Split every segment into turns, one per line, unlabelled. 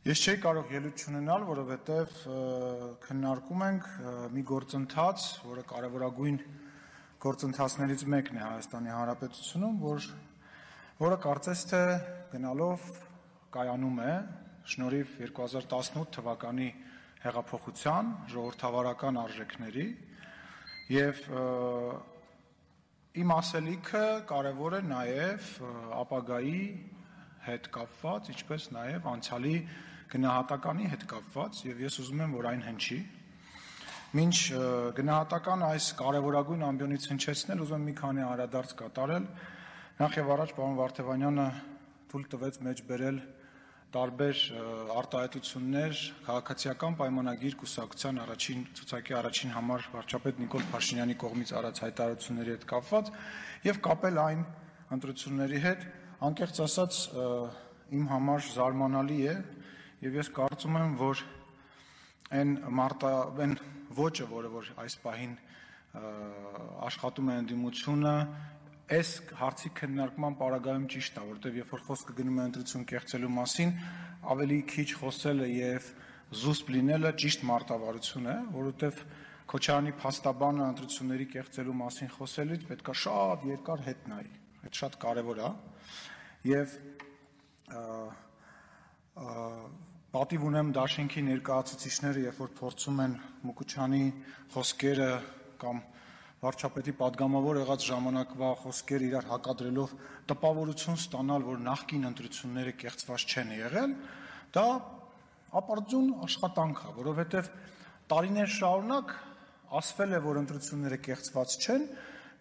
Ես չէի կարող ելույթ չունենալ, որովհետև քննարկում ենք մի գործընթաց, որը կարևորագույն գործընթացներից մեկն է Հայաստանի Հանրապետությունում, որը կարծես թե գնալով կայանում է շնորհիվ 2018 թվականի հեղափոխության ժողովրդավարական արժեքների եւ իմ ասելիքը կարևոր է նաեւ ապագայի հետ կապված, ինչպես նաեւ անցյալի գնահատականի հետ կապված եւ ես ուզում եմ, որ այն հնչի։ Մինչ գնահատական այս կարևորագույն ամբիոնից հնչեցնել, ուզում եմ մի քանի անդրադարձ կատարել։ Նախ եւ առաջ պարոն Վարդևանյանը թույլ տվեց մեջ բերել տարբեր արտահայտություններ քաղաքացիական պայմանագիր կուսակցության առաջին ցուցակի առաջին համար վարչապետ Նիկոլ Փաշինյանի կողմից արած հայտարարությունների հետ կապված եւ կապել այն ընտրությունների հետ, անկեղծ ասած իմ համար զարմանալի է եւ ես կարծում եմ, որ այն ոճը, որ այս պահին աշխատում է ընդդիմությունը, այս հարցի քննարկման պարագայում ճիշտ է, որտեղ երբ որ խոսքը գնում է ընտրություն կեղծելու մասին, ավելի քիչ խոսելը եւ զուսպ լինելը ճիշտ մարտավարություն է, որովհետեւ Քոչարյանի փաստաբանը ընտրությունների կեղծելու մասին խոսելուց պետք է շատ երկար հետ նայի։ Այդ շատ կարևոր է եւ պատիվ ունեմ դաշինքի ներկայացուցիչները, երբ որ փորձում են Մուկուչյանի խոսքերը կամ վարչապետի падգամավոր եղած ժամանակվա խոսքերը իրար հակադրելով տպավորություն ստանալ, որ նախկին ընտրությունները կեղծված չեն եղել, դա ապարդյուն աշխատանք է, որովհետև տարիներ շարունակ ասվել է, որ ընտրությունները կեղծված չեն,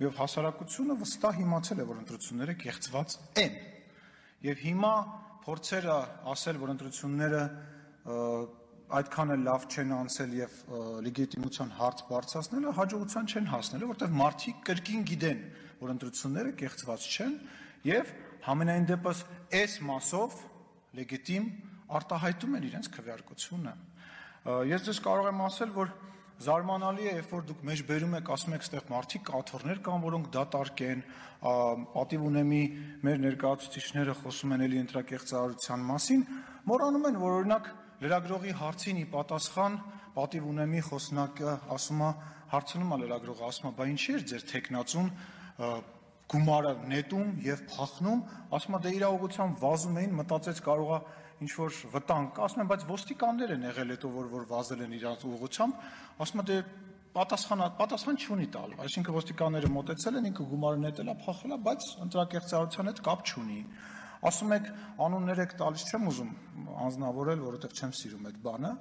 եւ հասարակությունը վստահ իմացել է, որ ընտրությունները կեղծված են։ Եվ հիմա փորձերը ասել, որ ընտրությունները այդքան էլ լավ չեն անցել եւ լեգիտիմության հարց բարձրացնելը հաջողության չեն հասնել, որտեղ մարդիկ կրկին գիտեն, որ ընտրությունները կեղծված չեն եւ համենայն դեպս այս մասով լեգիտիմ արտահայտում են իրենց քվեարկությունը։ Ես դες կարող եմ ասել, որ զարմանալի է, երբ որ դուք մեջ բերում եք, ասում եք, այստեղ մարդիկ կաթոռներ կան, որոնք դատարկ են, պատիվ ունեմի մեր ներկայացուցիչները խոսում են էլի ընտրակեղծարարության մասին, մոռանում են, որ օրինակ լրագրողի հարցին ի պատասխան պատիվ ունեմի խոսնակը ասում է, հարցնում է լրագրողը, ասում է, բա ինչի՞ էր ձեր թեկնածուն գումարը նետում եւ փախնում, ասում է, դե իրավաբանությամբ վազում էին, մտածեց կարող է ինչ որ վտանգ կա, ասում են, բայց ոստիկաններ են եղել հետո որ վազել են իրաց ուղղությամբ, ասում է, դե պատասխան չունի տալ, այսինքն ոստիկանները մոտեցել են, ինքը գումարը նետել է, փախել է, բայց ընտրակեղծարարության հետ կապ չունի։ Ասում եք, անուններ եք տալիս, չեմ ուզում անձնավորել, որովհետև չեմ սիրում այդ բանը,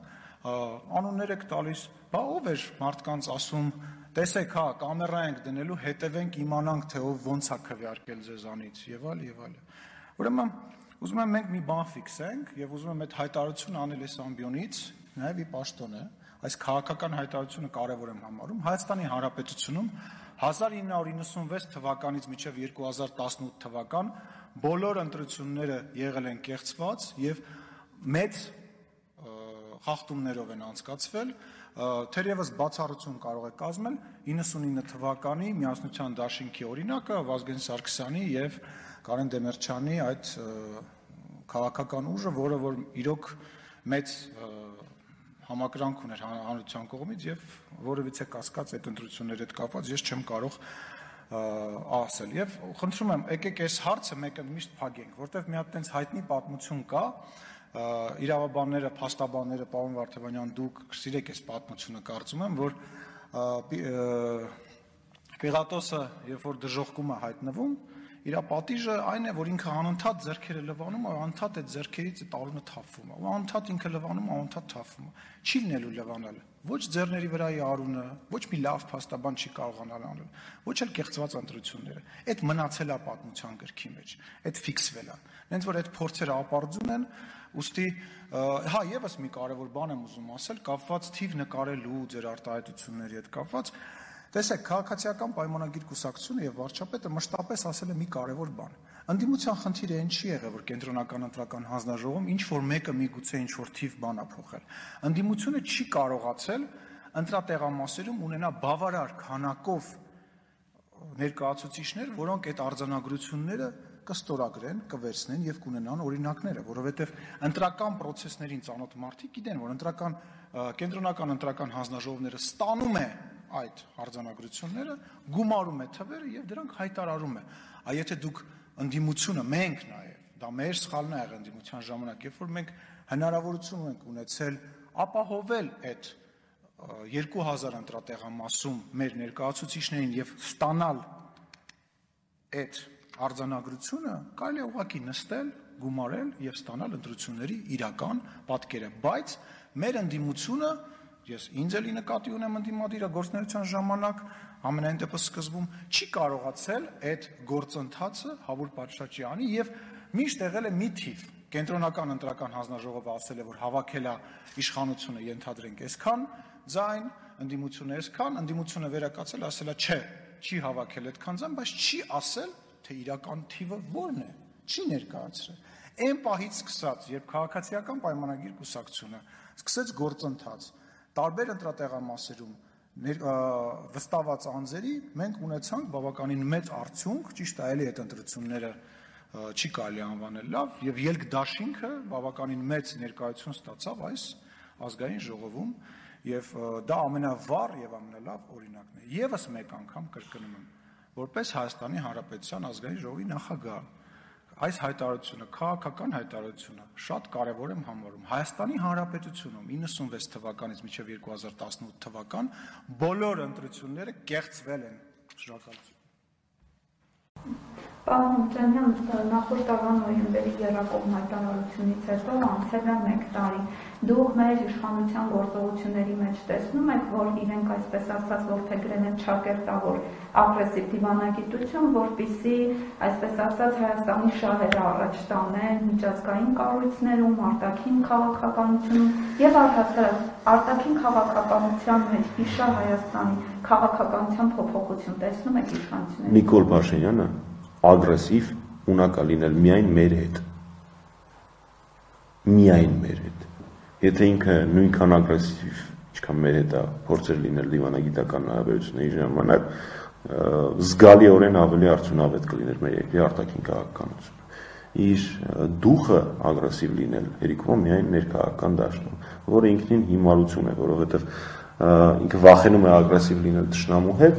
անուններ եք տալիս, բա ով էր մարդկանց ասում, տեսեք, հա, կամերա ենք դնելու, հետևենք, իմանանք, թե ով ոնց է քվեարկել ձեզանից, եւ այլ։ Ուրեմն, ուզում եմ մենք մի բան ֆիքսենք եւ ուզում եմ այդ հայտարարությունը անել այս ամբիոնից, նաեւ ի պաշտոն է, այս քաղաքական հայտարարությունը կարեւոր եմ համարում Հայաստանի Հանրապետությունում 1996 թվականից մինչև 2018 թվական բոլոր ընտրությունները եղել են կեղծված եւ մեծ խախտումներով են անցկացվել, թերևս բացառություն կարող է կազմել 99 թվականի Միասնության դաշինքի օրինակը Վազգեն Սարգսյանի եւ Կարեն Դեմիրճյանի այդ քաղաքական ուժը, որը որ իրոք մեծ համակրանք ուներ հանրության կողմից եւ որևիցե կասկած այդ ընտրությունների հետ կապված ես չեմ կարող ասել եւ խնդրում եմ եկեք այս հարցը մեկը միշտ փակենք, որտեվ մի հատ տենց հայտնի պատմություն կա իրավաբանները, փաստաբանները, պարոն Վարդևանյան, դուք սիրեք այս պատմությունը, կարծում եմ, որ Պիղատոսը, երբ որ դժոխքում է հայտնվում, իր պատիժը այն է, որ ինքը անընդհատ ձեռքերը լվանում է, անընդհատ այդ ձեռքերից այդ արունը թափվում է, անընդհատ ինքը լվանում, անընդհատ թափվում է, չի լինելու լվանալը, ոչ ձեռների վրայի արունը, ոչ մի լավ փաստաբան չի կարողանալ անել, ոչ էլ կեղծված ընտրությունները, այդ մնացել է պատմության գրքի մեջ, այդ ֆիքսվել է, նենց որ այդ փորձերը ապարդյուն են, ուստի, հա, եւս մի կարևոր բան եմ ուզում ասել, կապված թիվ նկարելու ձեր արտահայտությունների հետ կապված, տեսեք, քաղաքացիական պայմանագիր կուսակցությունը եւ վարչապետը մշտապես ասել է մի կարևոր բան։ Ընդդիմության խնդիրը այն չի եղել, որ կենտրոնական ընտրական հանձնաժողովում ինչ որ մեկը միգուցե ինչ որ թիվ բան է փոխել։ Ընդդիմությունը չի կարողացել ընտրատեղամասերում ունենա բավարար քանակով ներկայացուցիչներ, որոնք այդ արձանագրությունները կստորագրեն, կվերցնեն եւ կունենան օրինակները, որովհետեւ ընտրական process-ներին ծանոթ մարդիկ գիտեն, որ կենտրոնական ընտրական հանձնաժողովները ստանում է այդ արձանագրությունները, գումարում է թվերը եւ դրանք հայտարարում է։ Եթե դուք ընդդիմությունը մենք նաեւ, դա մեր սխալն է եղել ընդդիմության ժամանակ, երբ որ մենք հնարավորություն ենք ունեցել ապահովել այդ 2000 ընտրատեղամասում մեր ներկայացուցիչներին եւ ստանալ այդ արձանագրությունը, կարելի է ուղղակի նստել, գումարել եւ ստանալ ընտրությունների իրական պատկերը, բայց մեր ընդդիմությունը, ես ինձ էլի նկատի ունեմ ընդդիմադիրը գործունեության ժամանակ, ամենայն դեպս սկզբում չի կարողացել այդ գործընթացը հավուր պատշաճի անի եւ միշտ եղել է մի թիվ կենտրոնական ընտրական հանձնաժողովը ասել է, որ հավաքել է իշխանությունը ենթադրենք այսքան ձայն, ընդդիմությունը այսքան, ընդդիմությունը վերակացել ասել է չէ, չի հավաքել այդքան ձայն, բայց չի ասել, թե իրական թիվը որն է, չի ներկայացրել։ Այն պահից սկսած, երբ քաղաքացիական պայմանագիր կուսակցությունը սկսեց գործընթաց, տարբեր ընտրատեղամասերում վստահված անձերի մենք ունեցանք բավականին մեծ արդյունք, ճիշտ է, էլի այդ ընտրությունները չի կարելի անվանել լավ եւ ելք դաշինքը բավականին մեծ ներկայություն ստացավ այս ազգային ժողովում եւ դա ամենավառ եւ ամենալավ օրինակն է։ Եվս մեկ անգամ կրկնում եմ, որպես Հայաստանի Հանրապետության ազգային ժողովի նախագահ, այս հայտարարությունը, քաղաքական հայտարարությունը շատ կարևոր եմ համարում։ Հայաստանի Հանրապետությունում 96 թվականից մինչև 2018 թվական բոլոր ընտրությունները կեղծվել են։ Շնորհակալություն։
Պարոն Մուրճանյան, նախորդ տարվա նոյեմբերի եռակողմ հայտարարությունից հետո անցել է 1 տարի։ Դուք մեր իշխանության գործողությունների մեջ տեսնում եք, որ իրենք այսպես ասած որդեգրել են ճակերտավոր ագրեսիվ դիվանագիտություն, որպեսզի այսպես ասած Հայաստանի շահերը առաջ տանեն միջազգային կառույցներում, արտաքին քաղաքականությունում եւ առհասարակ արտաքին քաղաքականության մեջ իշա Հայաստանի քաղաքականության փոփոխություն տեսնում եք իշխանությունների։
Նիկոլ Փաշինյանը ագրեսիվ ունակա լինել միայն մեր հետ։ Միայն մեր հետ։ Եթե ինքը նույնքան ագրեսիվ, ինչքան մեր հետ է փորձել լինել դիվանագիտական հարաբերությունների ժամանակ, զգալիորեն ավելի արդյունավետ կլիներ մեր երկրի արտաքին քաղաքականությունը։ Իր դուխը ագրեսիվ լինել հերիքում միայն ներքաղաքական դաշտում, որը ինքնին հիմարություն է, որովհետև ինքը վախենում է ագրեսիվ լինել թշնամու հետ,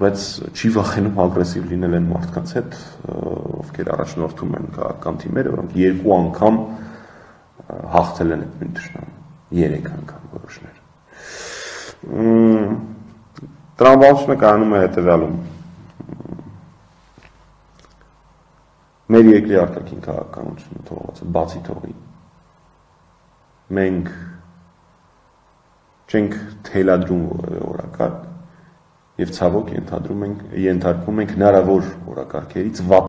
բայց չի վախենում ագրեսիվ լինել այն մարդկանց հետ, ովքեր առաջնորդում են քաղաքական թիմերը, որոնք 2 անգամ հաղթել են այդ նույն թշնամուն, 3 անգամ որոշներ։ Տրամաբանությունը կայանում է հետևյալում։ Մեր երկրի արտաքին քաղաքականությունը թողված է բացի թողի։ Մենք չենք թելադրում որևէ օրակարգ եւ ցավոք ենթարկում ենք հնարավոր օրակարգերից